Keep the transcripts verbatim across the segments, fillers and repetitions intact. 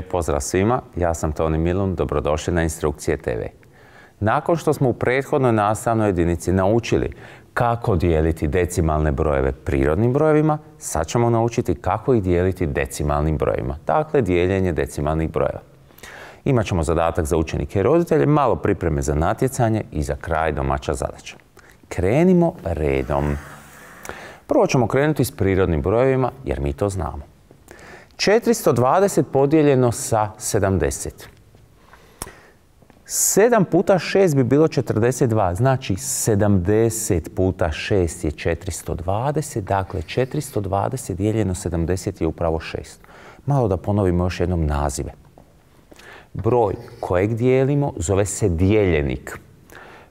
Lijep pozdrav svima, ja sam Toni Milun, dobrodošli na Instrukcije te ve. Nakon što smo u prethodnoj nastavnoj jedinici naučili kako dijeliti decimalne brojeve prirodnim brojevima, sad ćemo naučiti kako ih dijeliti decimalnim brojevima. Dakle, dijeljenje decimalnih brojeva. Imat ćemo zadatak za učenike i roditelje, malo pripreme za natjecanje i za kraj domaća zadaća. Krenimo redom. Prvo ćemo krenuti s prirodnim brojevima, jer mi to znamo. četiristo dvadeset podijeljeno sa sedamdeset. sedam puta šest bi bilo četrdeset dva, znači sedamdeset puta šest je četiristo dvadeset, dakle četiristo dvadeset dijeljeno sedamdeset je upravo šest. Malo da ponovimo još jednom nazive. Broj kojeg dijelimo zove se dijeljenik.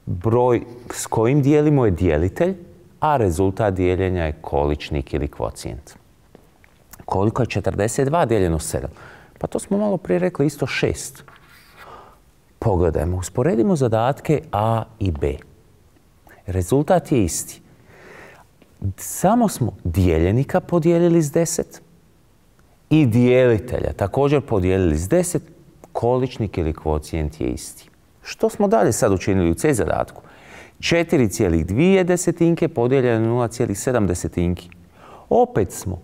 Broj s kojim dijelimo je dijelitelj, a rezultat dijeljenja je količnik ili kvocijent. Koliko je četrdeset dva dijeljeno sedam? Pa to smo malo prije rekli isto šest. Pogledajmo, usporedimo zadatke A i B. Rezultat je isti. Samo smo dijeljenika podijelili s deset i dijelitelja također podijelili s deset. Količnik ili kvocijent je isti. Što smo dalje sad učinili u C zadatku? četiri zarez dvije desetinke podijeljeno na nula zarez sedam desetinki. Opet smo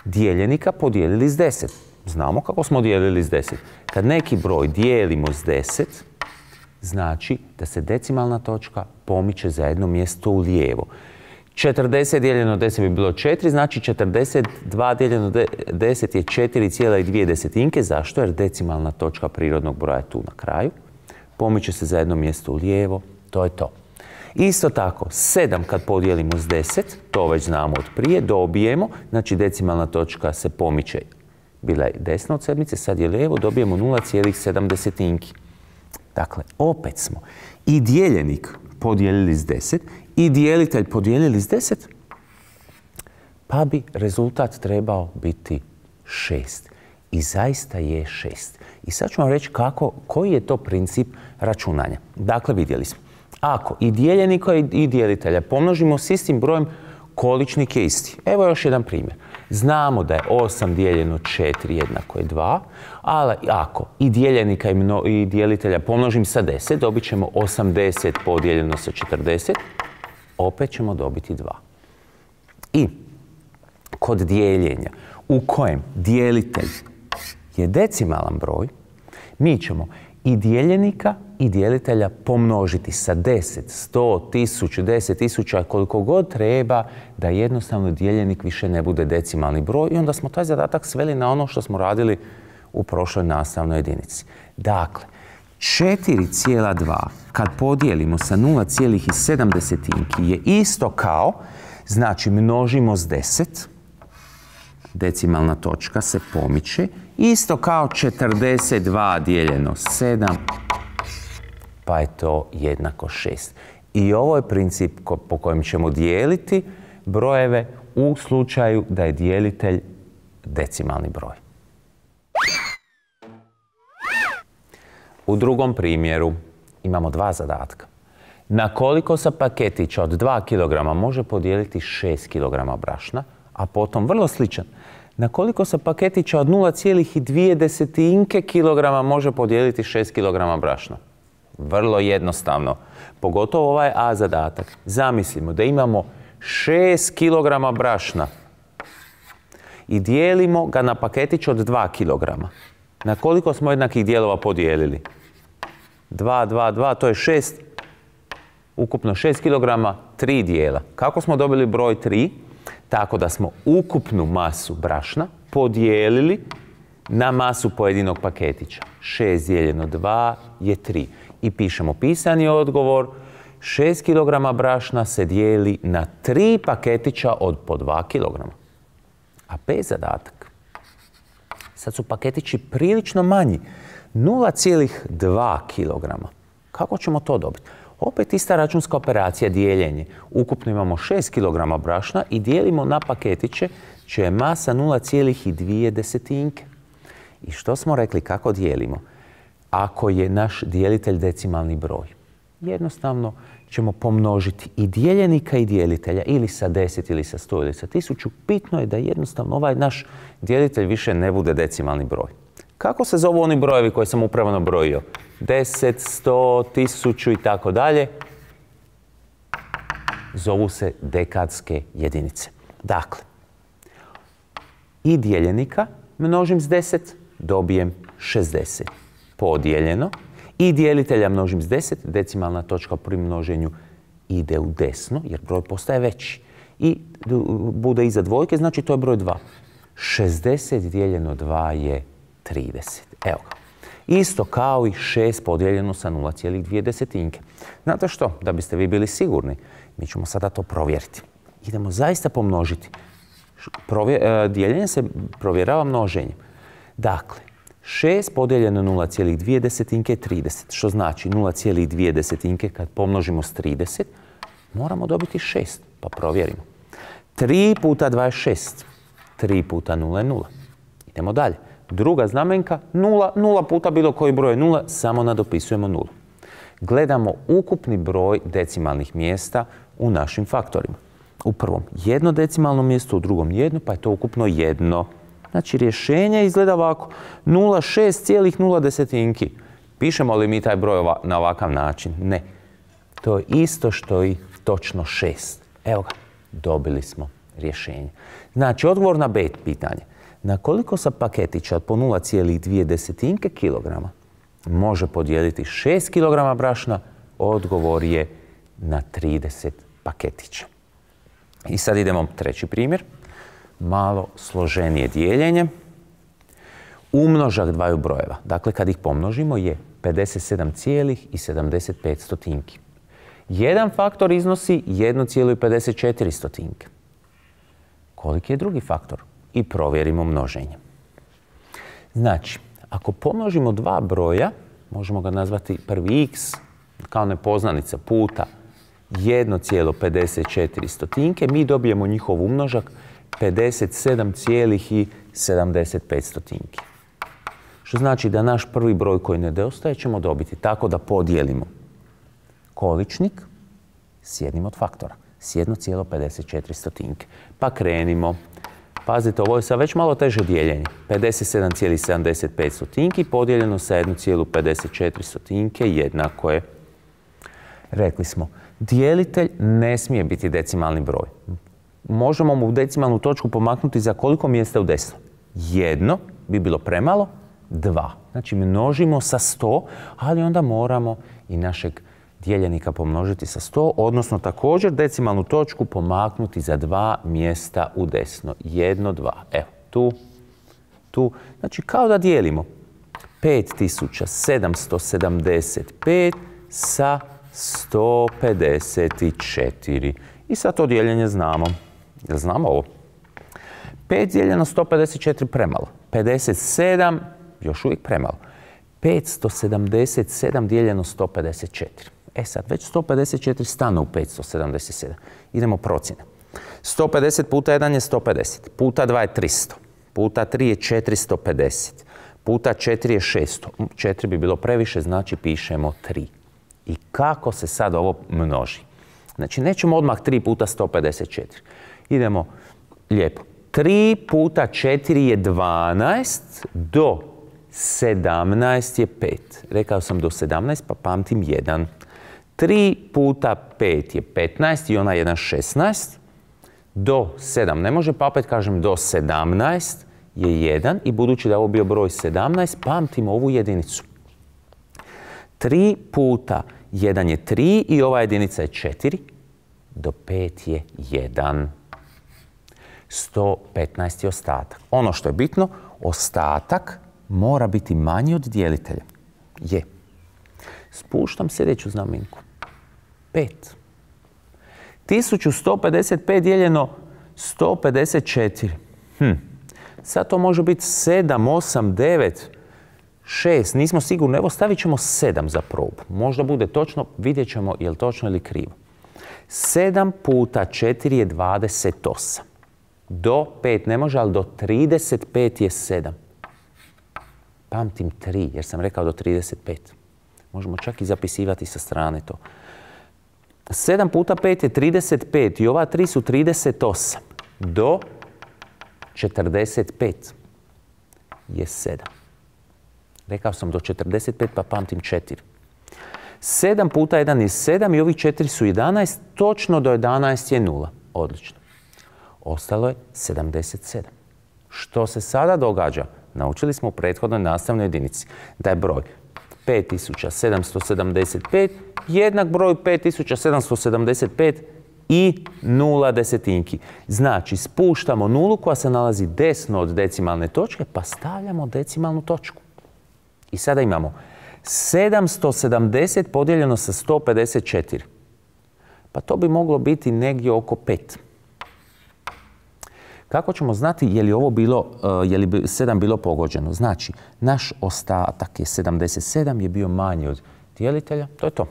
dijeljenika podijelili s deset. Znamo kako smo dijelili s deset. Kad neki broj dijelimo s deset, znači da se decimalna točka pomiče za jedno mjesto u lijevo. četrdeset dijeljeno deset bi bilo četiri, znači četrdeset dva dijeljeno deset je četiri zarez dvije desetinke. Zašto? Jer decimalna točka prirodnog broja je tu na kraju. Pomiče se za jedno mjesto u lijevo. To je to. Isto tako, sedam kad podijelimo s deset, to već znamo od prije, dobijemo, znači decimalna točka se pomiče. Bila je desna od sedmice, sad je lijevo, dobijemo nula zarez sedam desetinki. Dakle, opet smo i dijeljenik podijelili s deset i dijelitelj podijelili s deset, pa bi rezultat trebao biti šest. I zaista je šest. I sad ću vam reći kako, koji je to princip računanja. Dakle, vidjeli smo. Ako i dijeljenika i dijelitelja pomnožimo s istim brojem, količnik je isti. Evo još jedan primjer. Znamo da je osam dijeljeno četiri jednako je dva, ali ako i dijeljenika i dijelitelja pomnožim sa deset, dobit ćemo osamdeset podijeljeno sa četrdeset, opet ćemo dobiti dva. I kod dijeljenja u kojem dijelitelj je decimalan broj, mi ćemo i dijeljenika i dijelitelja pomnožiti sa deset, sto, tisuću, deset tisuća, koliko god treba da jednostavno dijeljenik više ne bude decimalni broj i onda smo taj zadatak sveli na ono što smo radili u prošloj nastavnoj jedinici. Dakle, četiri zarez dva kad podijelimo sa nula zarez sedam desetinki je isto kao, znači množimo s deset, decimalna točka se pomiče, isto kao četrdeset dva dijeljeno sedam, pa je to jednako šest. I ovo je princip po kojem ćemo dijeliti brojeve u slučaju da je dijelitelj decimalni broj. U drugom primjeru imamo dva zadatka. Na koliko se paketića od dva kilograma može podijeliti šest kilograma brašna, a potom vrlo sličan. Na koliko se paketića od nula zarez dvije desetinke kilograma može podijeliti šest kilograma brašna? Vrlo jednostavno. Pogotovo ovaj A zadatak. Zamislimo da imamo šest kilograma brašna i dijelimo ga na paketić od dva kilograma. Na koliko smo jednakih dijelova podijelili? dva, dva, dva, to je šest. Ukupno šest kilograma, tri dijela. Kako smo dobili broj tri? Tako da smo ukupnu masu brašna podijelili na masu pojedinog paketića. šest dijeljeno dva je tri. I pišemo pisani odgovor. šest kilograma brašna se dijeli na tri paketića od po dva kilograma. A B zadatak. Sad su paketići prilično manji. nula zarez dva kilograma. Kako ćemo to dobiti? Opet ista računska operacija, dijeljenje. Ukupno imamo šest kilograma brašna i dijelimo na paketiće čija je masa nula zarez dvije desetinke. I što smo rekli, kako dijelimo? Ako je naš dijelitelj decimalni broj, jednostavno ćemo pomnožiti i dijeljenika i dijelitelja ili sa deset ili sa sto ili sa tisuću. Bitno je da jednostavno ovaj naš dijelitelj više ne bude decimalni broj. Kako se zovu oni brojevi koje sam upravo nabrojio? deset, sto, tisuću i tako dalje. Zovu se dekadske jedinice. Dakle, i dijeljenika množim s deset, dobijem šezdeset. Podijeljeno. I dijelitelja množim s deset, decimalna točka pri množenju ide u desno, jer broj postaje veći. I bude iza dvojke, znači to je broj dva. šezdeset dijeljeno dva je trideset. Evo ga. Isto kao i šest podijeljeno sa nula zarez dvije desetinke. Znate što? Da biste vi bili sigurni, mi ćemo sada to provjeriti. Idemo zaista pomnožiti. Provje, dijeljenje se provjerava množenjem. Dakle, šest podijeljeno nula zarez dvije desetinke je trideset, što znači nula zarez dvije desetinke kad pomnožimo s trideset, moramo dobiti šest, pa provjerimo. tri puta dva je šest, tri puta nula je nula. Idemo dalje. Druga znamenka, nula, nula puta bilo koji broj je nula, samo nadopisujemo nulu. Gledamo ukupni broj decimalnih mjesta u našim faktorima. U prvom jedno decimalno mjesto, u drugom jedno, pa je to ukupno jedno. Znači, rješenje izgleda ovako. nula zarez šest nula desetinki. Pišemo li mi taj broj na ovakav način? Ne. To je isto što i točno šest. Evo ga, dobili smo rješenje. Znači, odgovor na B pitanje. Na koliko se paketića od po nula zarez dvije desetinke kilograma može podijeliti šest kilograma brašna? Odgovor je na trideset paketića. I sad idemo treći primjer. Malo složenije dijeljenje. Umnožak dvaju brojeva, dakle kad ih pomnožimo, je pedeset sedam zarez sedamdeset pet stotinki. Jedan faktor iznosi jedno zarez pedeset četiri stotinke. Koliki je drugi faktor? I provjerimo množenje. Znači, ako pomnožimo dva broja, možemo ga nazvati prvi x kao nepoznanica puta jedno zarez pedeset četiri stotinke, mi dobijemo njihov umnožak pedeset sedam zarez sedamdeset pet stotinki. Što znači da naš prvi broj koji nedostaje ćemo dobiti tako da podijelimo količnik s jednim od faktora, s jedno zarez pedeset četiri stotinke. Pa krenimo. Pazite, ovo je sad već malo teže dijeljenje. pedeset sedam zarez sedamdeset pet stotinki podijeljeno sa jedno zarez pedeset četiri stotinke jednako je. Rekli smo, dijelitelj ne smije biti decimalni broj. Možemo mu decimalnu točku pomaknuti za koliko mjesta u desno? Jedno bi bilo premalo, dva. Znači množimo sa sto, ali onda moramo i našeg dijeljenika pomnožiti sa sto, odnosno također decimalnu točku pomaknuti za dva mjesta u desno. Jedno, dva. Evo, tu, tu. Znači kao da dijelimo pet tisuća sedamsto sedamdeset pet sa sto pedeset četiri. I sad to dijeljenje znamo. Jel znamo ovo? pet dijeljeno sto pedeset četiri premalo. pedeset sedam još uvijek premalo. petsto sedamdeset sedam dijeljeno sto pedeset četiri. E sad, već sto pedeset četiri stane u petsto sedamdeset sedam. Idemo procjene. sto pedeset puta jedan je sto pedeset. Puta dva je tristo. Puta tri je četiristo pedeset. Puta četiri je šesto. četiri bi bilo previše, znači pišemo tri. I kako se sad ovo množi? Znači, nećemo odmah tri puta sto pedeset četiri. Idemo lijepo. tri puta četiri je dvanaest, do sedamnaest je pet. Rekao sam do sedamnaest, pa pamtim jedan. tri puta pet je petnaest i ona jedan šesnaest. Do sedam ne može, pa opet kažem do sedamnaest je jedan. I budući da je ovo bio broj sedamnaest, pamtimo ovu jedinicu. tri puta jedan je tri i ova jedinica je četiri. Do pet je jedan. sto petnaest je ostatak. Ono što je bitno, ostatak mora biti manji od dijelitelja. Je. Spuštam sljedeću znamenku. pet. tisuću sto pedeset pet dijeljeno sto pedeset četiri. Hm. Sad to može biti sedam, osam, devet, šest. Nismo sigurni. Evo stavit ćemo sedam za probu. Možda bude točno, vidjet ćemo je li točno ili krivo. sedam puta četiri je dvadeset osam. Do pet ne može, ali do trideset pet je sedam. Pamtim tri, jer sam rekao do trideset pet. Možemo čak i zapisivati sa strane to. sedam puta pet je trideset pet i ova tri su trideset osam. Do četrdeset pet je sedam. Rekao sam do četrdeset pet pa pamtim četiri. sedam puta jedan je sedam i ovih četiri su jedanaest. Točno do jedanaest je nula. Odlično. Ostalo je sedamdeset sedam. Što se sada događa? Naučili smo u prethodnoj nastavnoj jedinici da je broj pet tisuća sedamsto sedamdeset pet jednak broju pet tisuća sedamsto sedamdeset pet i nula desetinki. Znači, spuštamo nulu koja se nalazi desno od decimalne točke, pa stavljamo decimalnu točku. I sada imamo sedamsto sedamdeset podijeljeno sa sto pedeset četiri. Pa to bi moglo biti negdje oko pet. Kako ćemo znati je li ovo bilo, je li sedam bilo pogođeno? Znači, naš ostatak je sedamdeset sedam, je bio manji od dijelitelja. To je to.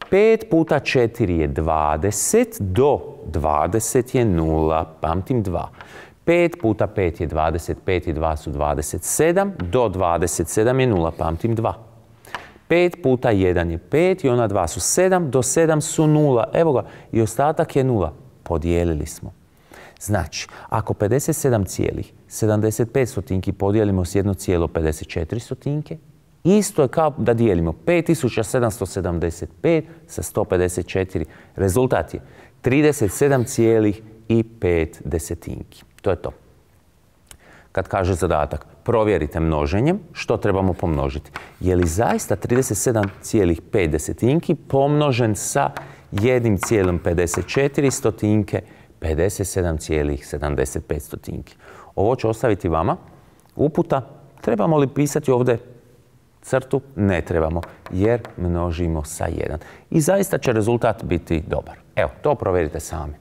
pet puta četiri je dvadeset, do dvadeset je nula, pamtim dva. pet puta pet je dvadeset pet i dva su dvadeset sedam, do dvadeset sedam je nula, pamtim dva. pet puta jedan je pet i ona dva su sedam, do sedam su nula. Evo ga, i ostatak je nula. Podijelili smo. Znači, ako pedeset sedam cijelih sedamdeset pet stotinki podijelimo s jedno cijelo pedeset četiri stotinke, isto je kao da dijelimo pet tisuća sedamsto sedamdeset pet sa sto pedeset četiri. Rezultat je trideset sedam cijelih i pet desetinki. To je to. Kad kaže zadatak, provjerite množenjem što trebamo pomnožiti. Je li zaista trideset sedam cijelih pet desetinki pomnožen sa jednim cijelom pedeset četiri stotinke, pedeset sedam cijelih sedamdeset pet stotinki. Ovo ću ostaviti vama. Uputa, trebamo li pisati ovdje crtu? Ne trebamo, jer množimo sa jedan. I zaista će rezultat biti dobar. Evo, to provjerite sami.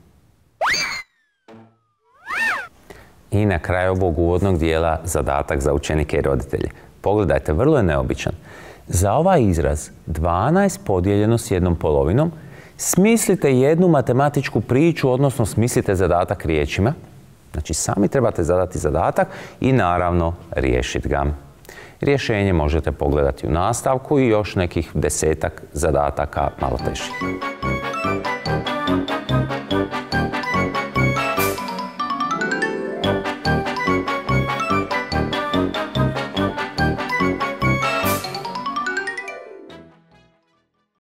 I na kraju ovog uvodnog dijela zadatak za učenike i roditelje. Pogledajte, vrlo je neobičan. Za ovaj izraz dvanaest podijeljeno s jednom polovinom smislite jednu matematičku priču, odnosno smislite zadatak riječima. Znači, sami trebate zadati zadatak i naravno riješiti ga. Rješenje možete pogledati u nastavku i još nekih desetak zadataka malo težih.